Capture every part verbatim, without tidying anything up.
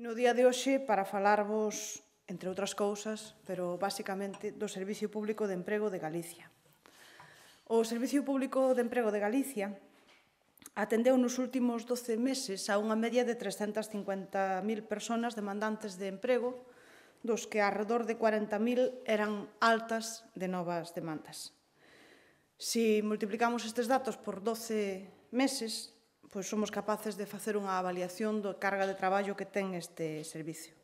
No día de hoxe para falarvos, entre outras cousas, pero basicamente do Servicio Público de Emprego de Galicia. O Servicio Público de Emprego de Galicia atendeu nos últimos doce meses a unha media de trescentas cincuenta mil persoas demandantes de emprego, dos que alrededor de cuarenta mil eran altas de novas demandas. Se multiplicamos estes datos por doce meses, pois somos capaces de facer unha avaliación da carga de traballo que ten este servicio.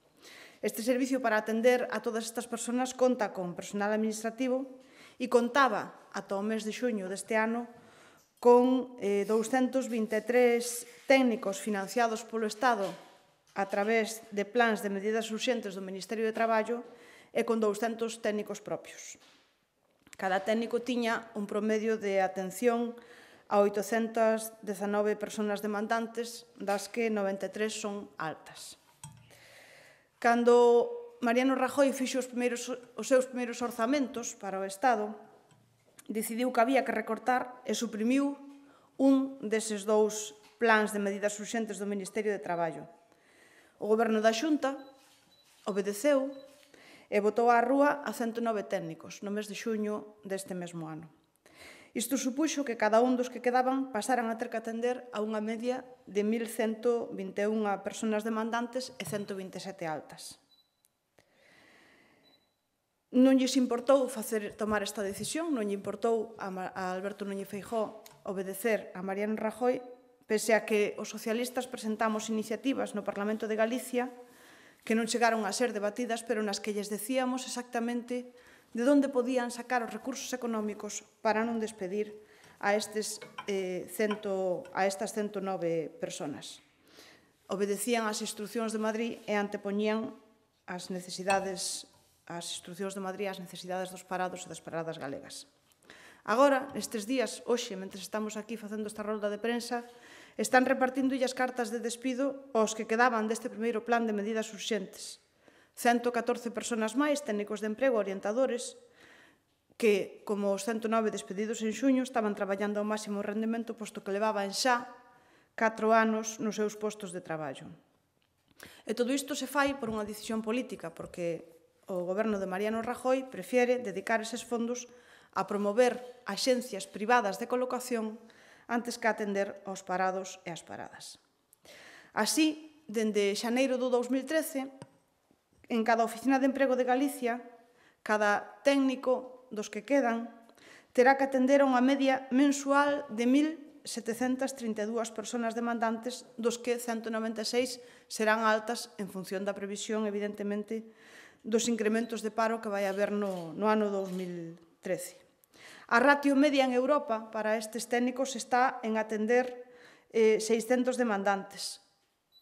Este servicio, para atender a todas estas persoas, conta con personal administrativo e contaba, ata o mes de xuño deste ano, con douscentos vinte e tres técnicos financiados polo Estado a través de plans de medidas urxentes do Ministerio de Traballo e con douscentos técnicos propios. Cada técnico tiña un promedio de atención a oitocentas dezanove persoas demandantes, das que noventa e tres son altas. Cando Mariano Rajoy fixo os, primeiros, os seus primeiros orzamentos para o Estado, decidiu que había que recortar e suprimiu un deses dous plans de medidas urxentes do Ministerio de Traballo. O Goberno da Xunta obedeceu e botou á rúa a cento nove técnicos no mes de xuño deste mesmo ano. Isto supuxo que cada un dos que quedaban pasaran a ter que atender a unha media de mil cento vinte e unha persoas demandantes e cento vinte e sete altas. Non lles importou facer, tomar esta decisión, non lle importou a Alberto Núñez Feijóo obedecer a Mariano Rajoy, pese a que os socialistas presentamos iniciativas no Parlamento de Galicia que non chegaron a ser debatidas, pero nas que lles decíamos exactamente de onde podían sacar os recursos económicos para non despedir a, estes, eh, cento, a estas cento nove persoas. Obedecían as instruccións de Madrid e antepoñían as necesidades, as instruccións de Madrid ás necesidades dos parados e das paradas galegas. Agora, nestes días, hoxe, mentre estamos aquí facendo esta rolda de prensa, están repartindo as cartas de despido aos que quedaban deste primeiro plan de medidas urxentes. cento catorce persoas máis, técnicos de emprego, orientadores, que, como os cento nove despedidos en xuño, estaban traballando ao máximo rendemento, posto que levaban xa catro anos nos seus postos de traballo. E todo isto se fai por unha decisión política, porque o goberno de Mariano Rajoy prefiere dedicar eses fondos a promover axencias privadas de colocación antes que atender aos parados e ás paradas. Así, dende xaneiro do dous mil trece, en cada oficina de emprego de Galicia, cada técnico dos que quedan terá que atender a unha media mensual de mil setecentas trinta e dúas persoas demandantes, dos que cento noventa e seis serán altas en función da previsión, evidentemente, dos incrementos de paro que vai haber no, no ano dous mil trece. A ratio media en Europa para estes técnicos está en atender eh, seiscentos demandantes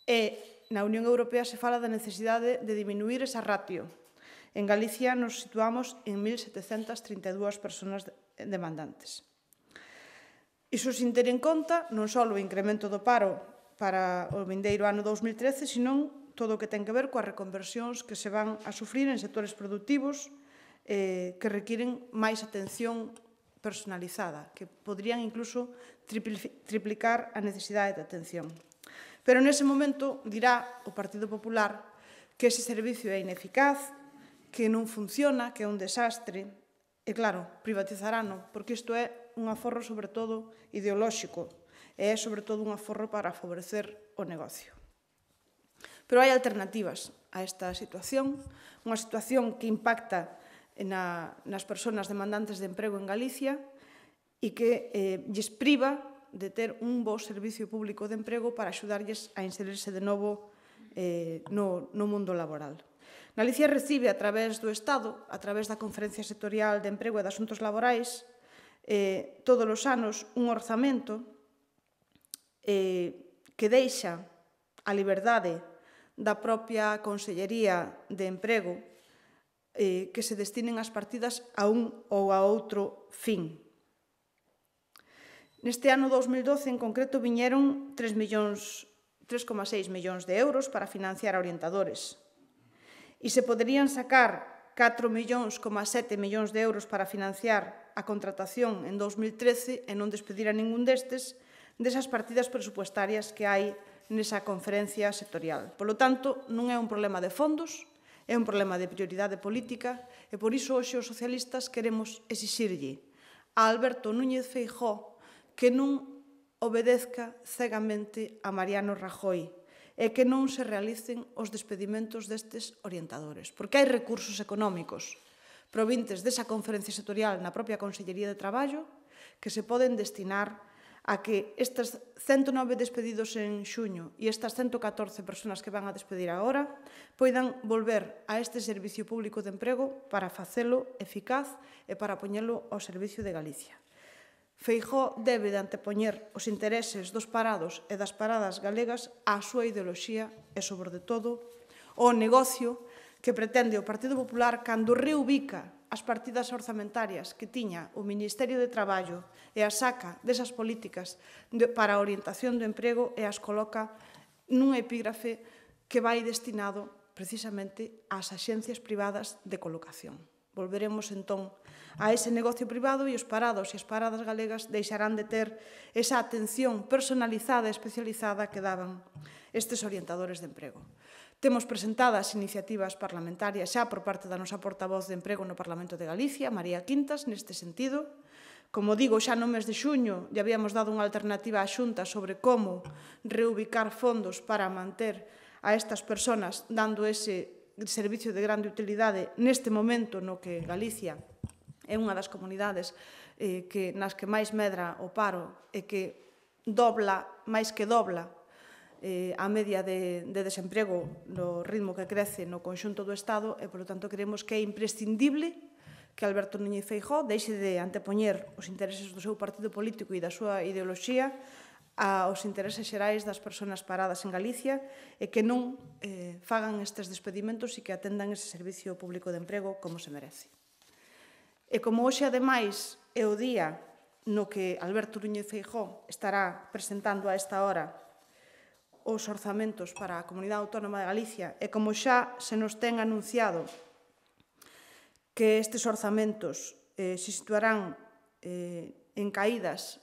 e na Unión Europea se fala da necesidade de diminuir esa ratio. En Galicia nos situamos en mil setecentas trinta e dúas persoas demandantes. Iso sin ter en conta non só o incremento do paro para o vindeiro ano dous mil trece, senón todo o que ten que ver coas reconversións que se van a sufrir en sectores productivos eh, que requiren máis atención personalizada, que poderían incluso triplicar a necesidade de atención. Pero nese momento dirá o Partido Popular que ese servicio é ineficaz, que non funciona, que é un desastre. E claro, privatizarano, porque isto é un aforro sobre todo ideolóxico e é sobre todo un aforro para favorecer o negocio. Pero hai alternativas a esta situación, unha situación que impacta na, nas persoas demandantes de emprego en Galicia e que eh, lles priva de ter un bo servicio público de emprego para axudarlles a inserirse de novo eh, no, no mundo laboral. Galicia recibe a través do Estado, a través da Conferencia Sectorial de Emprego e de Asuntos Laborais, eh, todos os anos un orzamento eh, que deixa a liberdade da propia Consellería de Emprego eh, que se destinen as partidas a un ou a outro fin. Neste ano dous mil doce, en concreto, viñeron tres coma seis millóns de euros para financiar a orientadores. E se poderían sacar catro coma sete millóns de euros para financiar a contratación en dous mil trece e non despedir a ningún destes, desas partidas presupuestarias que hai nesa conferencia sectorial. Polo tanto, non é un problema de fondos, é un problema de prioridade política e por iso hoxe os socialistas queremos exixirlle a Alberto Núñez Feijóo que non obedezca cegamente a Mariano Rajoy e que non se realicen os despedimentos destes orientadores, porque hai recursos económicos provintes desa conferencia sectorial na propia Consellería de Traballo que se poden destinar a que estes ciento nove despedidos en xuño e estas ciento catorce persoas que van a despedir agora poidan volver a este servicio público de emprego para facelo eficaz e para poñelo ao servicio de Galicia. Feijóo debe de antepoñer os intereses dos parados e das paradas galegas á súa ideoloxía e, sobre todo, ao negocio que pretende o Partido Popular cando reubica as partidas orzamentarias que tiña o Ministerio de Traballo e as saca desas políticas para a orientación do emprego e as coloca nun epígrafe que vai destinado precisamente ás axencias privadas de colocación. Volveremos entón a ese negocio privado e os parados e as paradas galegas deixarán de ter esa atención personalizada e especializada que daban estes orientadores de emprego. Temos presentadas iniciativas parlamentarias xa por parte da nosa portavoz de emprego no Parlamento de Galicia, María Quintas, neste sentido. Como digo, xa no mes de xuño lle habíamos dado unha alternativa á Xunta sobre como reubicar fondos para manter a estas persoas dando ese servicio de grande utilidade neste momento no que Galicia é unha das comunidades eh, que, nas que máis medra o paro e que dobla, máis que dobla, eh, a media de, de desemprego no ritmo que crece no conxunto do Estado e, polo tanto, creemos que é imprescindible que Alberto Núñez Feijóo deixe de antepoñer os intereses do seu partido político e da súa ideoloxía aos intereses xerais das persoas paradas en Galicia e que non eh, fagan estes despedimentos e que atendan ese servicio público de emprego como se merece. E como hoxe, ademais, é o día no que Alberto Núñez Feijóo estará presentando a esta hora os orzamentos para a Comunidade Autónoma de Galicia e como xa se nos ten anunciado que estes orzamentos eh, se situarán eh, en caídas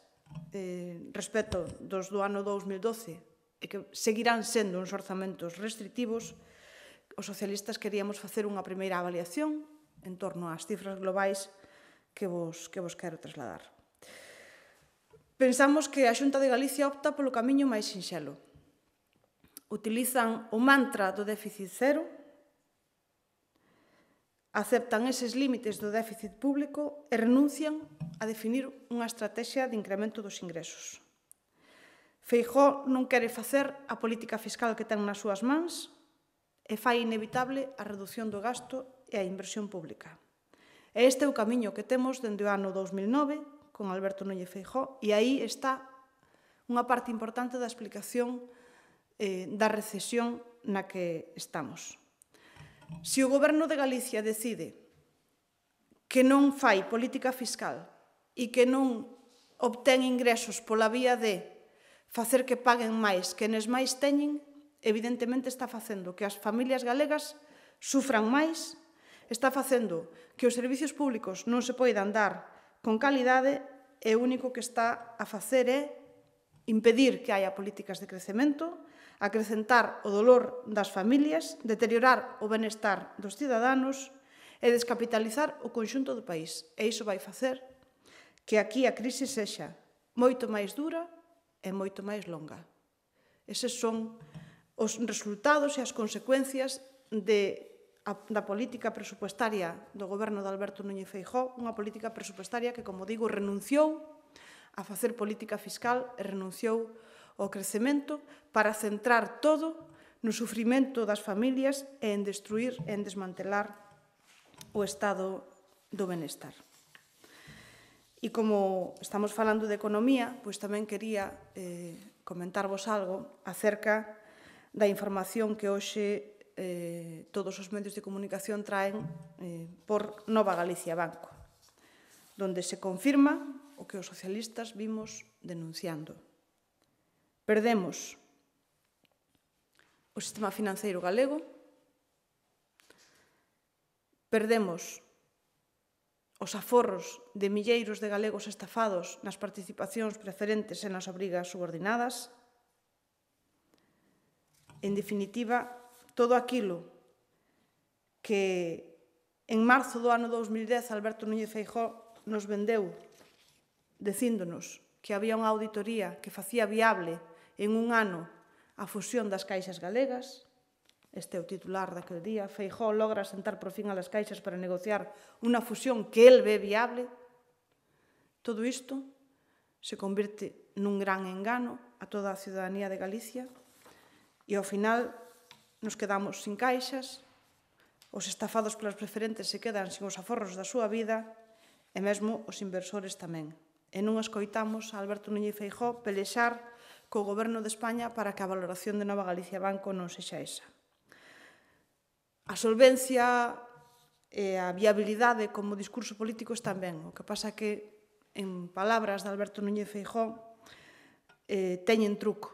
eh, respecto dos do ano dous mil doce e que seguirán sendo uns orzamentos restrictivos, os socialistas queríamos facer unha primeira avaliación en torno ás cifras globais que vos, que vos quero trasladar. Pensamos que a Xunta de Galicia opta polo camiño máis sinxelo. Utilizan o mantra do déficit cero, aceptan eses límites do déficit público e renuncian a definir unha estrategia de incremento dos ingresos. Feijóo non quere facer a política fiscal que ten nas súas mans e fai inevitable a reducción do gasto e a inversión pública. E este é o camiño que temos dende o ano dous mil nove con Alberto Núñez Feijóo e aí está unha parte importante da explicación eh, da recesión na que estamos. Se o Goberno de Galicia decide que non fai política fiscal e que non obtén ingresos pola vía de facer que paguen máis quenes máis teñen, evidentemente está facendo que as familias galegas sufran máis, está facendo que os servicios públicos non se poidan dar con calidade e o único que está a facer é impedir que haya políticas de crecemento, acrecentar o dolor das familias, deteriorar o benestar dos ciudadanos e descapitalizar o conxunto do país. E iso vai facer que aquí a crise sexa moito máis dura e moito máis longa. Eses son os resultados e as consecuencias de, a, da política presupuestaria do goberno de Alberto Núñez Feijóo, unha política presupuestaria que, como digo, renunciou a facer política fiscal e renunciou ao crecemento para centrar todo no sufrimento das familias e en destruir e en desmantelar o estado do benestar. E como estamos falando de economía, pois tamén quería eh, comentarvos algo acerca da información que hoxe eh, todos os medios de comunicación traen eh, por Nova Galicia Banco, donde se confirma o que os socialistas vimos denunciando. Perdemos o sistema financeiro galego, perdemos os aforros de milleiros de galegos estafados nas participacións preferentes e nas obrigas subordinadas, en definitiva, todo aquilo que en marzo do ano dous mil dez Alberto Núñez Feijóo nos vendeu dicíndonos que había unha auditoría que facía viable en un ano a fusión das caixas galegas. Este é o titular daquele día. Feijóo logra sentar por fin a las caixas para negociar unha fusión que el ve viable. Todo isto se convirte nun gran engano a toda a ciudadanía de Galicia e ao final nos quedamos sin caixas, os estafados polas preferentes se quedan sin os aforros da súa vida e mesmo os inversores tamén. E non escoitamos a Alberto Núñez Feijóo pelexar co Goberno de España para que a valoración de Nova Galicia Banco non sexa esa. A solvencia e a viabilidade como discurso político están ben. O que pasa que, en palabras de Alberto Núñez Feijóo, eh, teñen truco.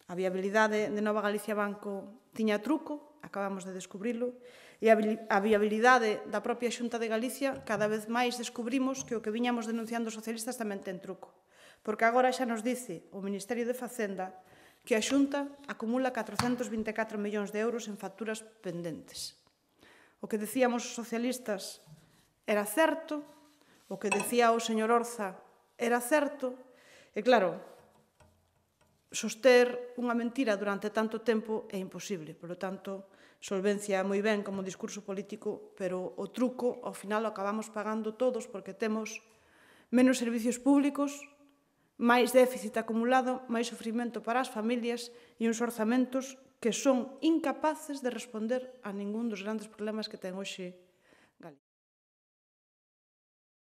A viabilidade de Nova Galicia Banco tiña truco, acabamos de descubrilo, e a viabilidade da propia Xunta de Galicia cada vez máis descubrimos que o que viñamos denunciando os socialistas tamén ten truco. Porque agora xa nos dice o Ministerio de Facenda que a Xunta acumula catrocentos vinte e catro millóns de euros en facturas pendentes. O que decíamos os socialistas era certo, o que decía o señor Orza era certo, e claro, soster unha mentira durante tanto tempo é imposible. Por lo tanto, solvencia moi ben como discurso político, pero o truco, ao final, o acabamos pagando todos porque temos menos servicios públicos, máis déficit acumulado, máis sofrimento para as familias e uns orzamentos que son incapaces de responder a ningún dos grandes problemas que ten hoxe